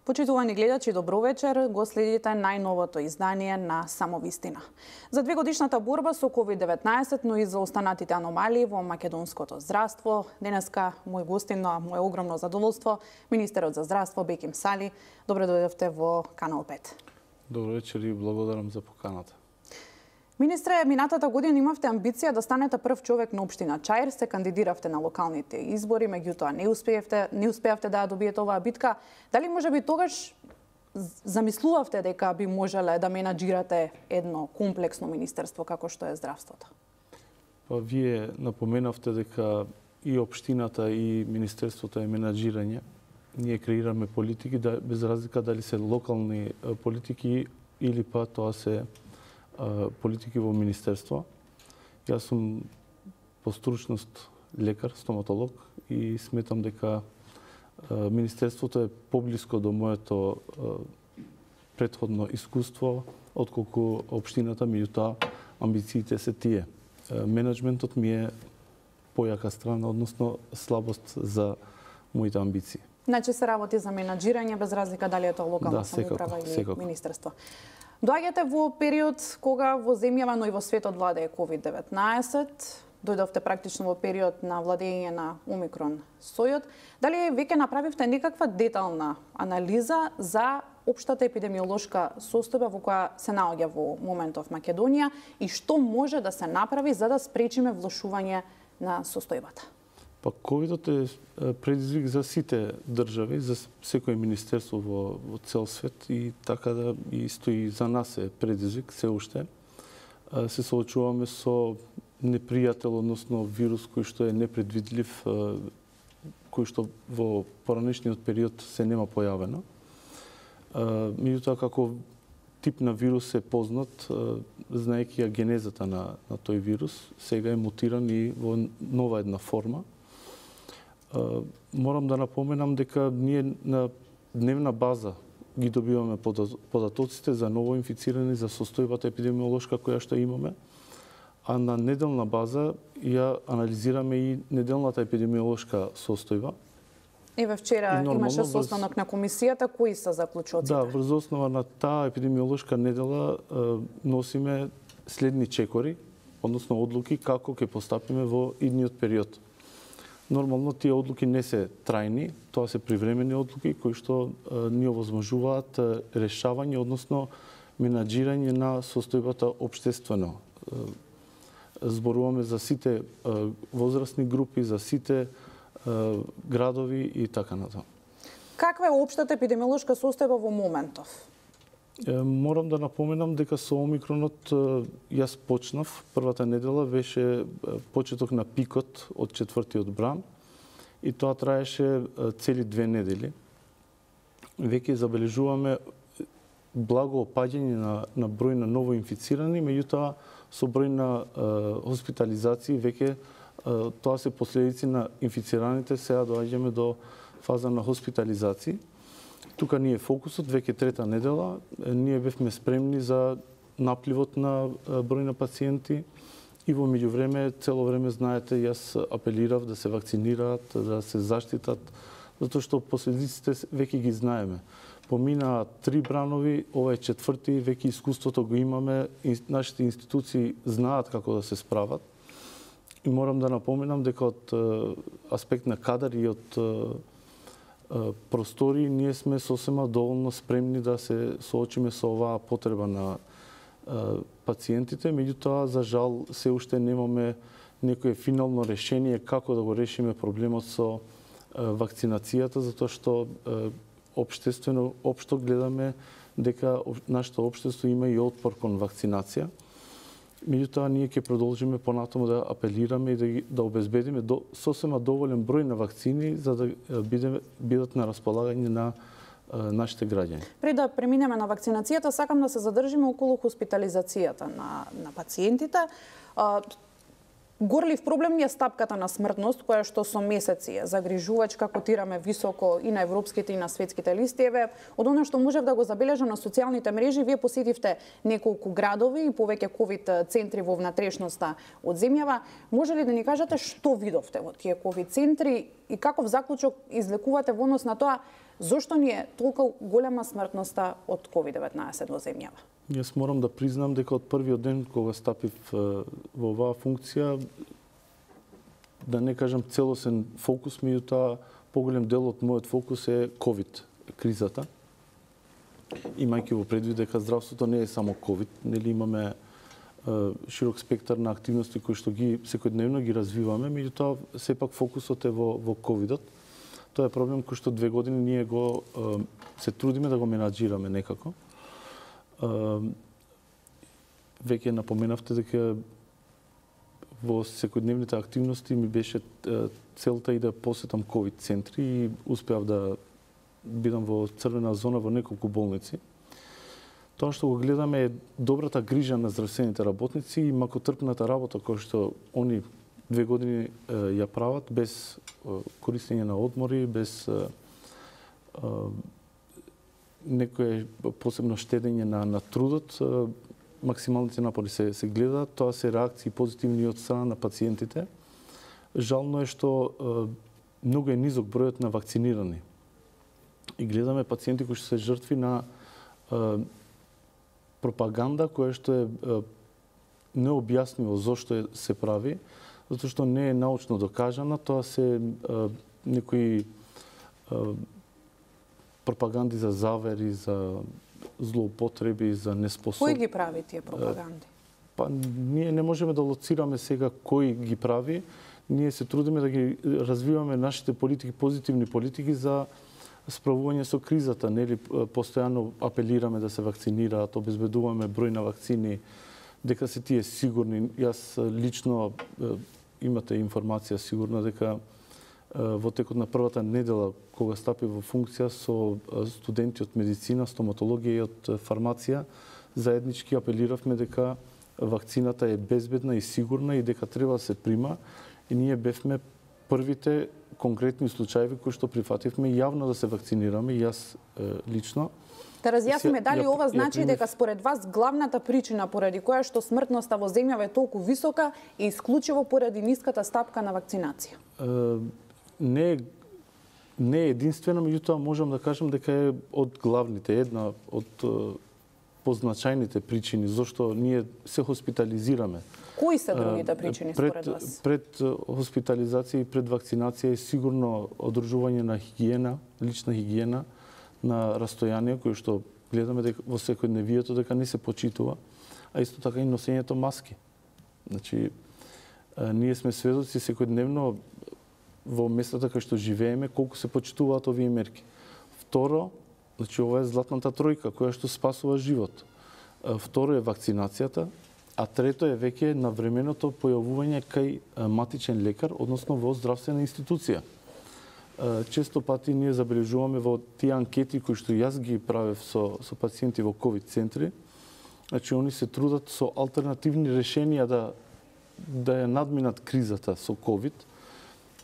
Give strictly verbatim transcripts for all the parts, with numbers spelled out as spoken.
Почитувани гледачи, добро вечер. Го следите најновото издание на Самовистина. За двегодишната борба со ковид деветнаесет, но и за останатите аномалии во македонското здравство, денеска мој гостин, на моје огромно задоволство, министерот за здравство Беким Сали. Добро дојдовте во Канал пет. Добро вечер и благодарам за поканата. Министре, минатата година имавте амбиција да станете прв човек на општина Чаир, се кандидиравте на локалните избори, меѓутоа не успеавте, не успеавте да ја добиете оваа битка. Дали можеби тогаш замислувавте дека би можеле да менаџирате едно комплексно министерство како што е здравството? Па вие напоменавте дека и општината и министерството е менаџирање. Ние креираме политики да, без разлика дали се локални политики или па тоа се политики во министерство. Јас сум по стручност лекар, стоматолог и сметам дека министерството е поблиско до моето претходно искуство отколку општината, меѓутоа амбициите се тие. Менеджментот ми е појака страна, односно слабост за моите амбиции. Значи се работи за менаџирање без разлика дали е тоа локална да, самоуправа или секако. министерство. Доаѓате во период кога во земјава, но и во светот владее ковид деветнаесет. Дојдовте практично во период на владење на Омикрон сојот. Дали веќе направивте некаква детална анализа за општата епидемиолошка состојба во која се наоѓа во моментов Македонија и што може да се направи за да спречиме влошување на состојбата? Па ковидот е предизвик за сите држави, за секој министерство во, во цел свет и така да и стои за нас е предизвик се уште. Се соочуваме со непријател, односно вирус кој што е непредвидлив, кој што во поранешниот период се нема појавено. Меѓутоа како тип на вирус е познат, знаејќи ја генезата на, на тој вирус, сега е мутиран и во нова една форма. Морам да напоменам дека ние на дневна база ги добиваме податоците за ново инфицирани, за состојбата епидемиолошка која што имаме, а на неделна база ја анализираме и неделната епидемиолошка состојба. Еве вчера имаше состанок на комисијата, кои се заклучоците? Да, врз основа на таа епидемиолошка недела носиме следни чекори, односно одлуки како ќе постапиме во идниот период. Нормално тие одлуки не се трајни, тоа се привремени одлуки кои што ни овозможуваат решавање, односно менаџирање на состојбата општествено. Зборуваме за сите возрастни групи, за сите градови и така натаму. Каква е општата епидемиолошка состојба во моментов? Морам да напоменам дека со Омикронот јас почнав, првата недела беше почеток на пикот од четвртиот бран и тоа траеше цели две недели. Веќе забележуваме благо опаѓање на, на број на ново инфицирани, меѓутоа со број на е, хоспитализации веќе тоа се последици на инфицираните, сега доаѓаме до фаза на хоспитализации. Тука ние фокусот, веќе трета недела, ние бевме спремни за напливот на број на пациенти и во меѓувреме, цело време, знаете, јас апелирав да се вакцинираат, да се заштитат, затоа што последиците веќе ги знаеме. Поминаа три бранови, ова е четврти, веќе искуството го имаме, нашите институции знаат како да се справат. И морам да напоменам дека од аспект на кадар и од простори, ние сме сосема доволно спремни да се соочиме со оваа потреба на пациентите, меѓутоа, за жал, се уште немаме некое финално решение како да го решиме проблемот со вакцинацијата, затоа што општествено, општо гледаме дека нашето општество има и отпор кон вакцинација. Меѓутоа, ние ќе продолжиме понатаму да апелираме и да, да обезбедиме до, сосема доволен број на вакцини за да биде, бидат на располагање на а, нашите граѓани. Пред да преминеме на вакцинацијата, сакам да се задржиме околу хоспитализацијата на, на пациентите. А, Горлив проблем е стапката на смртност, која што со месеци е загрижувачка, котираме високо и на европските и на светските листи. Еве, од оно што можев да го забележам на социјалните мрежи, вие посетивте неколку градови и повеќе ковид центри во внатрешноста од земјава. Може ли да ни кажете што видовте во тие ковид центри и каков заклучок извлекувате во однос на тоа зошто ни е толку голема смртноста од ковид деветнаесет во земјава? Јас морам да признам дека од првиот ден кога стапив во оваа функција, да не кажам целосен фокус, меѓутоа поголем дел од мојот фокус е ковид кризата. Имајќи во предвид дека здравството не е само ковид, нели имаме широк спектар на активности кои што ги секојдневно ги развиваме, меѓутоа сепак фокусот е во во ковидот. Тоа е проблем кој што две години ние го се трудиме да го менаџираме некако. Веќе напоменавте дека во секојдневните активности ми беше целта и да посетам ковид центри и успеав да бидам во црвена зона во неколку болници. Тоа што го гледаме е добрата грижа на здравствените работници и макотрпната работа која што они две години ја прават без користење на одмори, без некое посебно штедење на, на трудот, максималните напори се, се гледаат, тоа се реакции позитивни од страна на пациентите. Жално е што многу е низок бројот на вакцинирани. И гледаме пациенти кои што се жртви на пропаганда која што е необјаснимо зошто се прави, затоа што не е научно докажана, тоа се некои пропаганди за завери, за злоупотреби, за неспособ... Кој ги прави тие пропаганди? Па ние не можеме да лоцираме сега кој ги прави. Ние се трудиме да ги развиваме нашите политики, позитивни политики за справување со кризата, нели постојано апелираме да се вакцинираат, обезбедуваме број на вакцини, дека се тие сигурни. Јас лично имате информација сигурна дека во текот на првата недела, кога стапи во функција со студенти од медицина, стоматологија и од фармација, заеднички апелиравме дека вакцината е безбедна и сигурна и дека треба да се прима. И ние бевме првите конкретни случаи кои што прифативме јавно да се вакцинираме, и јас лично. Да разјасниме, дали ова значи дека според вас главната причина поради која што смртноста во земјава е толку висока е исклучиво поради ниската стапка на вакцинација? Не е не е единствено, меѓутоа можам да кажам дека е од главните, една од позначајните причини зошто ние се хоспитализираме. Кои се другите причини според пред, вас? Пред хоспитализација и пред вакцинација е сигурно одржување на хигиена, лична хигиена, на растојание, кој што гледаме дека во секојдневието дека не се почитува, а исто така и носењето маски. Значи, ние сме сведоци секојдневно во местата кај што живееме колку се почитуваат овие мерки. Второ, значи ова е златната тројка која што спасува живот. Второ е вакцинацијата, а трето е веќе навременото појавување кај матичен лекар, односно во здравствена институција. Често пати ние забележуваме во тие анкети кои што јас ги правев со со пациенти во ковид центри, значи они се трудат со алтернативни решенија да да ја надминат кризата со ковид.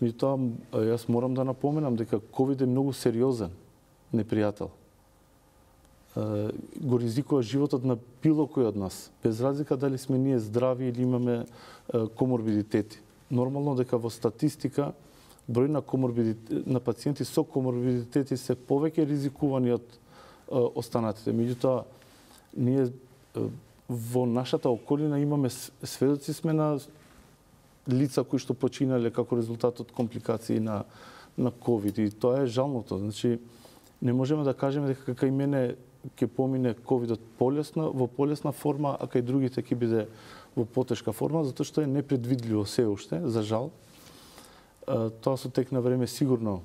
Меѓутоа, јас морам да напоменам дека ковид е многу сериозен непријател. Го ризикува животот на било кој од нас, без разлика дали сме ние здрави или имаме коморбидитети. Нормално дека во статистика број на коморбидитети на пациенти со коморбидитети се повеќе ризикувани од останатите. Меѓутоа, ние во нашата околина имаме сведоци сме на лица кои што починале како резултат од компликации на на ковид, и тоа е жалното. Значи не можеме да кажеме дека кај мене ќе помине ковидот полесно, во полесна форма, а кај другите ќе биде во потешка форма, затоа што е непредвидливо се уште, за жал. Тоа со тек на време сигурно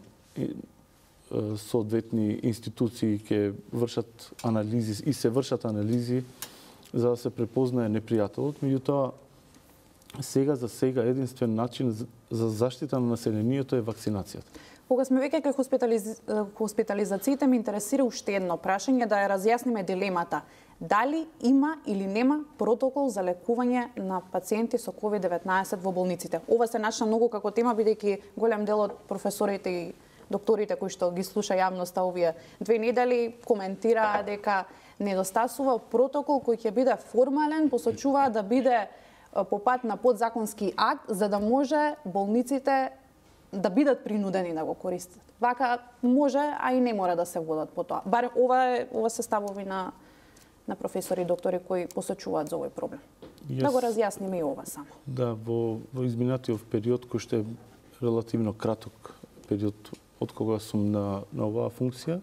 соодветни институции ќе вршат анализи и се вршат анализи за да се препознае непријателот, меѓутоа сега за сега единствен начин за заштита на населението е вакцинацијата. Кога сме веќе кај хоспитализ... хоспитализациите, ме интересира уште едно прашање, да ја разјасниме дилемата. Дали има или нема протокол за лекување на пациенти со ковид деветнаесет во болниците? Ова се начна многу како тема, бидејќи голем дел од професорите и докторите кои што ги слуша јавноста овие две недели коментираа дека недостасува протокол кој ќе биде формален, посочуваа да биде по пат на подзаконски акт, за да може болниците да бидат принудени да го користат. Вака може, а и не мора да се водат по тоа. Барем ова е, ова се ставови на на професори и доктори кои посочуваат за овој проблем. Yes. Да го разјасниме и ова само. Да, во, во изминатиот период, кој што е релативно краток период од кога сум на, на оваа функција,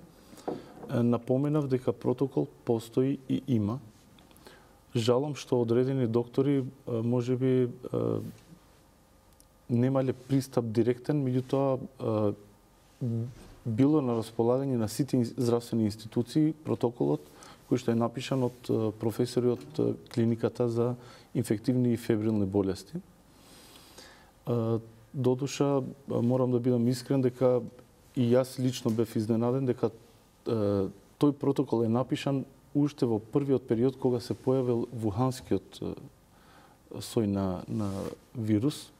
напоменав дека протокол постои и има. Жалам што одредени доктори можеби немале пристап директен, меѓутоа било на располагање на сите здравствени институции протоколот кој што е напишан од професори од клиниката за инфективни и фебрилни болести. Додуша, морам да бидам искрен дека и јас лично бев изненаден дека тој протокол е напишан уште во првиот период кога се појавил вуханскиот сој на, на вирус.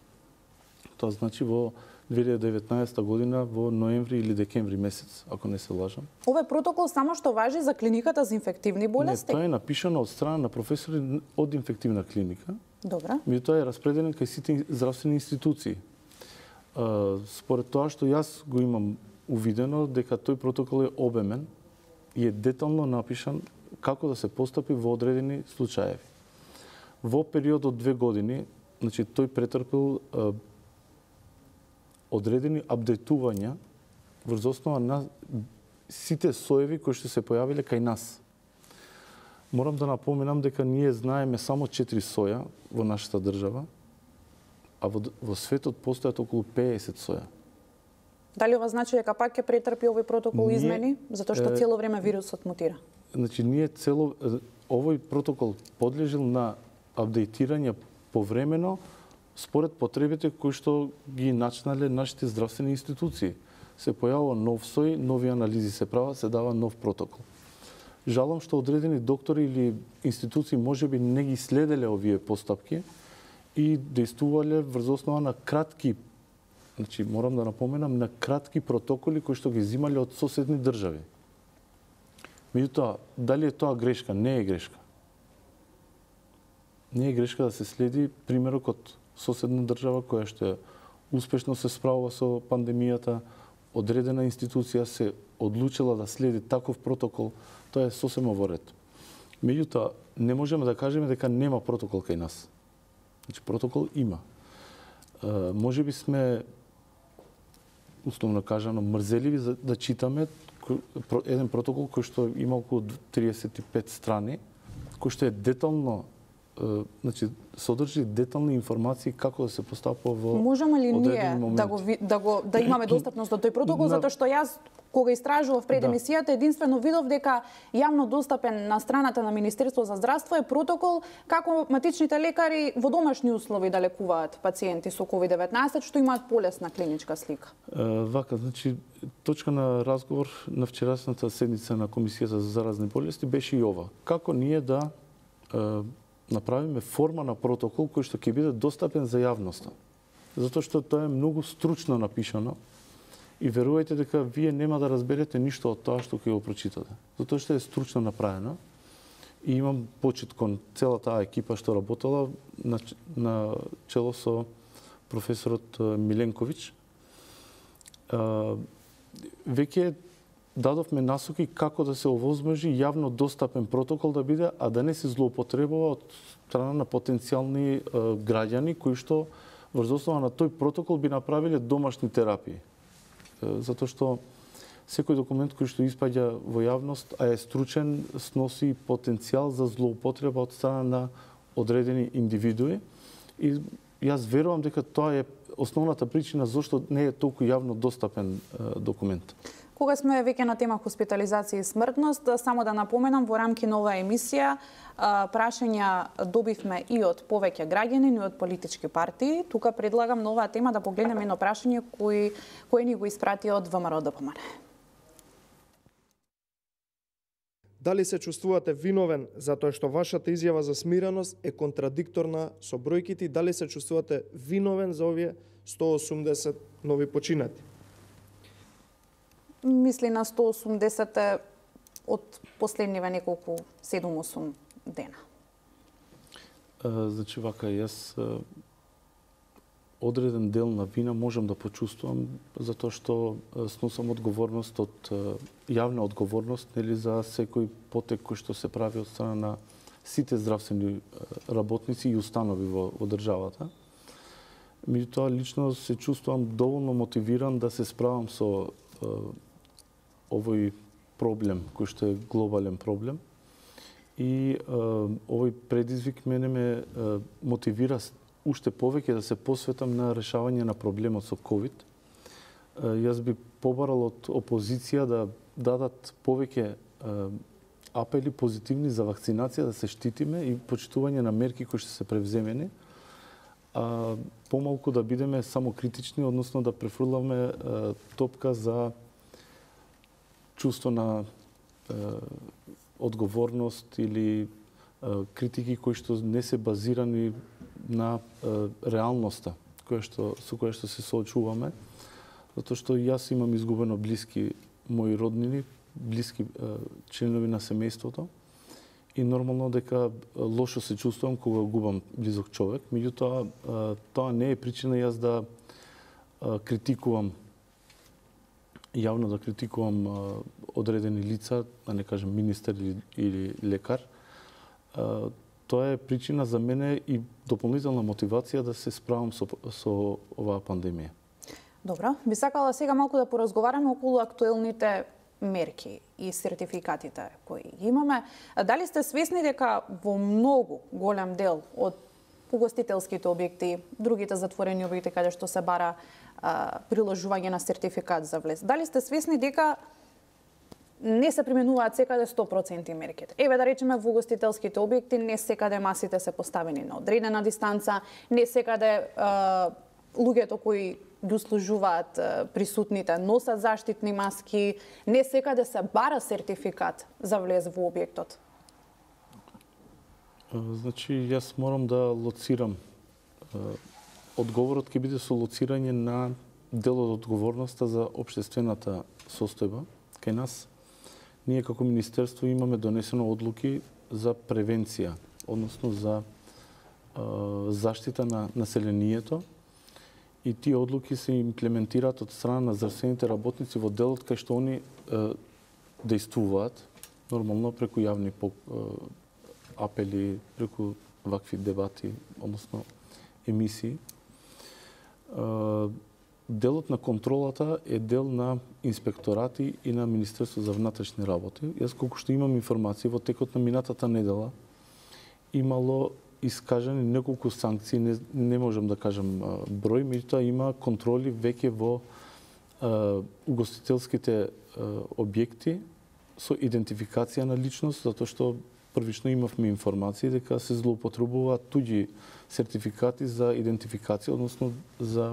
Тоа значи во две илјади и деветнаесета година во ноември или декември месец, ако не се лажам. Овој протокол само што важи за клиниката за инфективни болести? Не, тоа е напишано од страна на професори од инфективна клиника. Добра. Меѓутоа е распределен кај сите здравствени институции. Според тоа што јас го имам увидено, дека тој протокол е обемен и е детално напишан како да се постапи во одредени случаеви. Во период од две години, значи тој претрпел одредени апдейтувања врз основа на сите соеви кои што се појавиле кај нас. Морам да напоменам дека ние знаеме само четири соја во нашата држава, а во, во светот постојат околу педесет соја. Дали ова значи дека пак ќе претрпи овој протокол ние, измени, затоа што цело време вирусот мутира? Значи ние цело овој протокол подлежил на апдейтирање повремено според потребите кои што ги начнале нашите здравствени институции. Се појавува нов сој, нови анализи се прават, се дава нов протокол. Жалам што одредени доктори или институции можеби не ги следеле овие постапки и действувале врз основа на кратки, значи морам да напоменам, на кратки протоколи кои што ги земале од соседни држави. Меѓутоа, дали е тоа грешка? Не е грешка. Не е грешка да се следи примерок од соседна држава која што успешно се справува со пандемијата, одредена институција се одлучила да следи таков протокол, тоа е сосема во ред. Меѓутоа, не можеме да кажеме дека нема протокол кај нас. Значи, протокол има. Е, може би сме, условно кажано, мрзеливи за да читаме еден протокол кој што има околу триесет и пет страни, кој што е детално, значи содржи детални информации како да се постапува во можеме ли ние момент. да го да го да имаме достапност до тој протокол, затоа што јас кога истражував пред емисијата, единствено видов дека јавно достапен на страната на Министерство за здравство е протокол како матичните лекари во домашни услови да лекуваат пациенти со ковид деветнаесет што имаат полесна клиничка слика. Е, вака, значи точка на разговор на вчерашната седница на Комисијата за заразни болести беше и ова. Како ние да е, направиме форма на протокол кој што ќе биде достапен за јавноста. Затоа што тоа е многу стручно напишано и верувајте дека вие нема да разберете ништо од тоа што ќе го прочитате. Затоа што е стручно направено и имам почит кон целата таа екипа што работела на, на чело со професорот Миленковиќ. Веќе дадовме насоки како да се овозможи јавно достапен протокол да биде, а да не се злоупотребува од страна на потенцијални е, граѓани кои што врз основа на тој протокол би направиле домашни терапии. Е, затоа што секој документ кој што испаѓа во јавност, а е стручен, сноси потенцијал за злоупотреба од страна на одредени индивидуи и јас верувам дека тоа е основната причина зашто не е толку јавно достапен документ. Кога сме веќе на тема хоспитализација и смртност, само да напоменам, во рамки на оваа емисија прашања добивме и од повеќе граѓани, и од политички партии. Тука предлагам на оваа тема да погледнеме едно прашање кој кој ни го испрати од ВМРО Д П М Н. Дали се чувствувате виновен затоа што вашата изјава за смиреност е контрадикторна со бројките и дали се чувствувате виновен за овие сто осумдесет нови починати? Мисли на сто осумдесет од последниве неколку седум-осум дена. Значи вака, јас одреден дел на вина можам да почувствувам затоа што сносам одговорност од јавна одговорност, нели, за секој потек кој што се прави од страна на сите здравствени работници и установи во, во државата. Меѓутоа, лично се чувствувам доволно мотивиран да се справам со е, овој проблем, кој што е глобален проблем. И е, овој предизвик мене ме е, мотивира уште повеќе да се посветам на решавање на проблемот со ковид. Јас би побарал од опозиција да дадат повеќе апели позитивни за вакцинација, да се штитиме и почитување на мерки кои што се превземени, а помалку да бидеме само критични, односно да префрламе топка за чувство на одговорност или критики кои што не се базирани на е, реалноста која што со која што се соочуваме, затоа што јас имам изгубено блиски мои роднини, блиски е, членови на семејството и нормално дека лошо се чувствувам кога губам близок човек, меѓутоа тоа не е причина јас да е, критикувам јавно да критикувам е, одредени лица, да не кажем министер или, или лекар. Е, Тоа е причина за мене и дополнителна мотивација да се справам со, со оваа пандемија. Добро, би сакала сега малку да поразговараме околу актуелните мерки и сертификатите кои имаме. Дали сте свесни дека во многу голем дел од угостителските објекти, другите затворени објекти каде што се бара а, приложување на сертификат за влез, дали сте свесни дека не се применуваат секаде сто проценти мерките? Еве да речеме во угостителските објекти не секаде масите се поставени на одредена дистанца, не секаде а, луѓето кои ги услужуваат а, присутните носат заштитни маски, не секаде се бара сертификат за влез во објектот. Значи, јас морам да лоцирам. Одговорот ќе биде со лоцирање на дел од одговорноста за општествената состојба кај нас. Ние како министерство имаме донесено одлуки за превенција, односно за е, заштита на населението и тие одлуки се имплементираат од страна на здравствените работници во делот кај што они е, дејствуваат, нормално преку јавни по, е, апели, преку вакви дебати, односно емисии. Е, Делот на контролата е дел на инспекторати и на Министерство за внатрешни работи. Јас колку што имам информација, во текот на минатата недела имало искажани неколку санкции, не, не можам да кажам број, меѓутоа има контроли веќе во е, угостителските е, објекти со идентификација на личност, затоа што првично имавме информации дека се злоупотребуваат туѓи сертификати за идентификација, односно за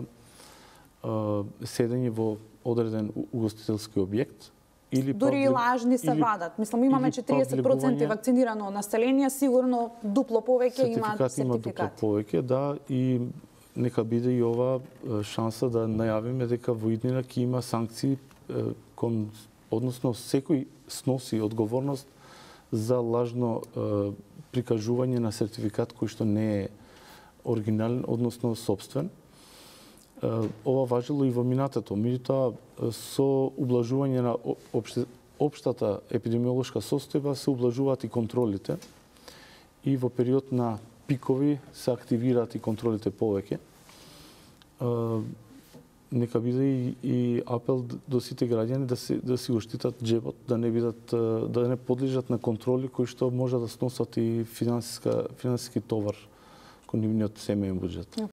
седење во одреден угостителски објект или дури и лажни се или, вадат. Мислам, имаме четириесет проценти вакцинирано население, сигурно дупло повеќе имаат сертификати. Има дупло повеќе, да, и нека биде и ова шанса да најавиме дека во иднина ќе има санкции кон, односно секој сноси одговорност за лажно е, прикажување на сертификат кој што не е оригинален, односно собствен. Ова важило и во минатото, меѓутоа со ублажување на опште, општата епидемиолошка состојба се ублажуваат и контролите и во период на пикови се активираат и контролите повеќе. Нека биде и, и апел до сите граѓани да се да си го штитат џебот, да не бидат да не подлежат на контроли кои што може да сносат и финансиска финансиски товар кон нивниот семеен буџет.